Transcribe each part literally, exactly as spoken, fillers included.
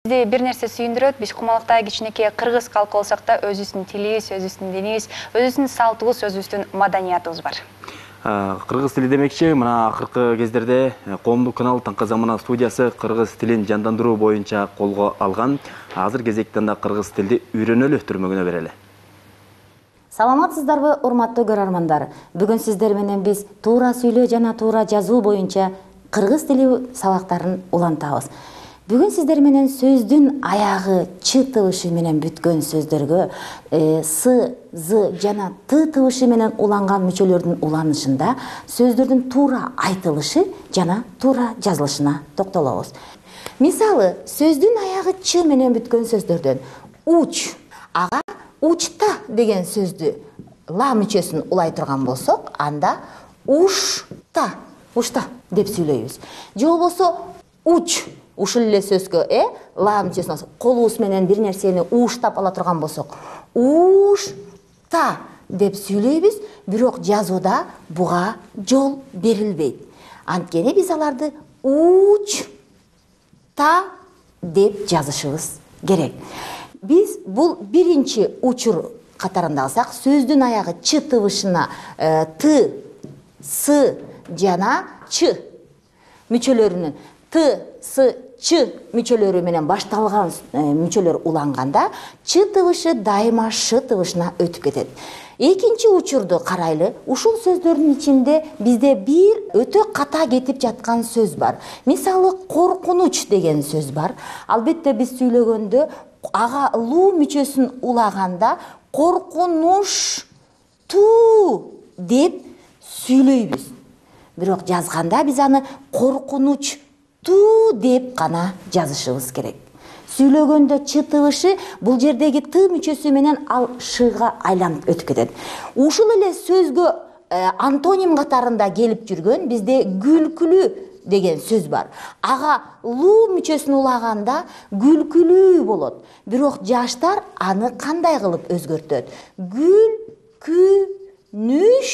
Бизди бир нерсе сүйүндүрөт, биз кумалыкта кичинекей кыргыз калкы болсок да өзүбүздүн тилибиз, өзүбүздүн динибиз, өзүбүздүн салтыбыз, өзүбүздүн маданиятыбыз бар. Кыргыз тили демекчи, мына акыркы кездерде коомдук канал Таңкы Замана студиясы кыргыз тилин жандандыруу боюнча колго алган. Азыр кезекте анда кыргыз тилди үйрөнөлү түрмөгүнө берели. Саламатсыздарбы, урматтуу көрөрмандар. Бүгүн сиздер менен биз туура сүйлөө жана туура жазуу боюнча кыргыз тили сабактарын улантабыз. Бүгүн сиздер менен сөздүн аягы ч тыбышы менен бүткөн сөздөргө с, з жана т тыбышы менен уланган мүчөлөрдүн уланышында сөздөрдүн туура айтылышы жана туура жазылышына токтолобуз. Мисалы, сөздүн аягы ч менен бүткөн сөздөрдөн уч, ага учта деген сөздү ла мүчөсүн улай турган болсок, анда ушта, ушта деп сүйлөйбүз. Же болбосо уч, ушул эле сөзгө э ла мүчөсүн колубуз менен бир нерсени уштап ала турган болсок, ушта деп сүйлөйбүз, бирок жазууда буга жол берилбейт. Анткени биз аларды учта деп жазышыбыз керек. Биз бул биринчи учур катарында алсак, сөздүн аягы ч тыбышына т, с жана ч мүчөлөрүнүн т, с, ч мүчөлөрү менен башталган мүчөлөр уланганда ч тыбышы дайыма ш тыбышына өтүп кетет. Экинчи учурду карайлы. Ушул сөздөрдүн ичинде бизде бир өтө ката кетип жаткан сөз бар. Мисалы, коркунуч деген сөз бар. Албетте биз сүйлөгөндө ага луу мүчөсүн улаганда коркунуш ту деп сүйлөйбүз. Бирок жазганда биз аны коркунуч ту деп гана жазышыбыз керек. Сүйлөгөндө ч тыбышы бул жердеги т мүчөсү менен ал шга айланып өтүп кетет. Ушул эле сөзгө антоним катарында келип жүргөн бизде күлкүлүү деген сөз бар. Ага луу мүчөсүн улаганда күлкүлүү болот. Бирок жаштар аны кандай кылып өзгөртөт? Күлкүнүш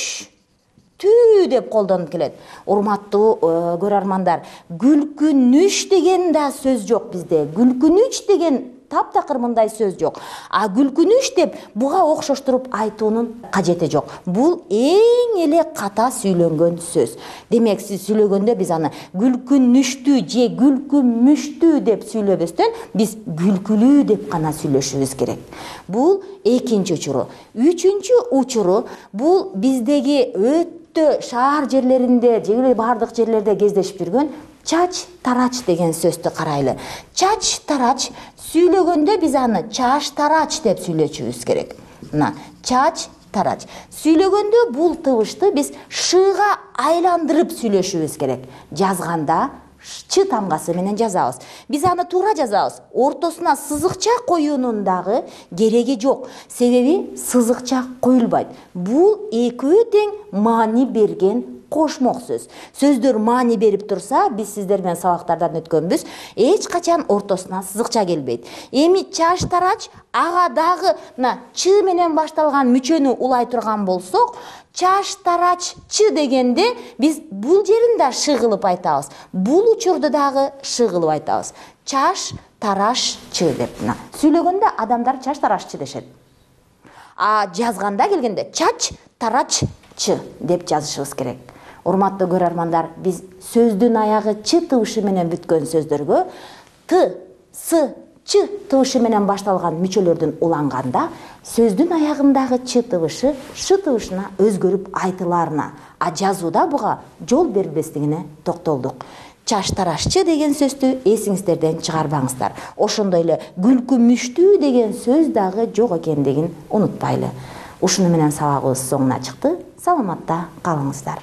түү деп колдонуп келет. Урматтуу көрөрмандар, күлкүнүш деген да сөз жок бизде. Күлкүнүч деген таптакыр мындай сөз жок. А күлкүнүш деп буга окшоштуруп айтуунун кажети жок. Бул эң эле ката сүйлөнгөн сөз. Демек, сиз сүйлөгөндө биз аны күлкүнүштүү же күлкүмүштүү деп сүйлөбөстөн, биз күлкүлүү деп гана сүйлөшүбүз керек. Бул экинчи учуру. Үчүнчү учуру бул биздеги өтө шаар жерлеринде, же бардык жерлерде кездешип жүргөн чач тарач деген сөздү карайлы. Чач тарач сүйлөгөндө биз аны чаш тарач деп сүйлөшүбүз керек. Мына, чач тарач. Сүйлөгөндө бул тыбышты биз шга айландырып сүйлөшүбүз керек. Жазганда ч тамгасы менен жазабыз. Биз аны туура жазабыз. Ортосуна сызыкча коюунун дагы кереги жок. Себеби сызыкча коюлбайт. Бул экөө тең маани берген кошмок сөз. Сөздөр маани берип турса, биз сиздер менен сабактардан өткөнбүз, эч качан ортосуна сызыкча келбейт. Эми чаш тарач, ага дагы мына ч менен башталган мүчөнү улай турган болсок, чаш тарач ч дегенде биз бул жерин да ш кылып айтабыз. Бул учурду дагы ш кылып айтабыз. Чаш тараш ч деп. Мына сүйлөгөндө адамдар чаш тараш ч дешет. А жазганда келгенде чач тарач ч деп жазышыбыз керек. Урматтуу көрөрмандар, биз сөздүн аягы ч тыбышы менен бүткөн сөздөргө т, с, ч тыбышы менен башталган мүчөлөрдүн уланганда сөздүн аягындагы ч тыбышы ш тыбышына өзгөрүп айтыларына, а жазууда буга жол берилбестигине токтолдук. Чаш тараш ч деген сөздү эсиңиздерден чыгарбаңыздар. Ошондой эле күлкүмүштүү деген сөз дагы жок экендигин унутпайлы. Ушуну менен сабагыбыз соңуна чыкты. Саламатта калыңыздар.